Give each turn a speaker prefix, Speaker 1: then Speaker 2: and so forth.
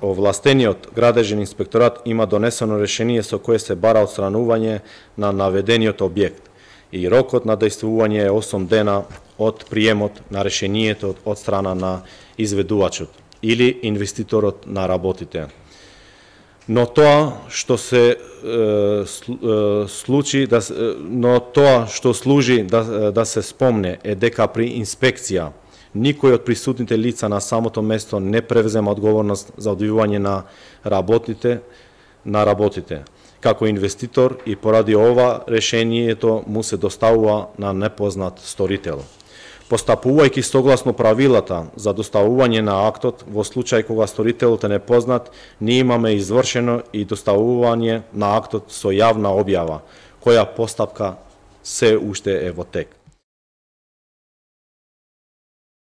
Speaker 1: овластениот градежен инспекторат има донесено решение со кое се бара отстранување на наведениот објект и рокот на дејствување е 8 дена од приемот на решението од страна на изведувачот или инвеститорот на работите. Но тоа што служи да се спомне е дека при инспекција никој од присутните лица на самото место не превзема одговорност за одвивање на работите како инвеститор и поради ова решението му се доставува на непознат сторител. Постапувајќи согласно правилата за доставување на актот, во случај кога сторителот е непознат, ние имаме извршено и доставување на актот со јавна објава, која постапка се уште е во тек.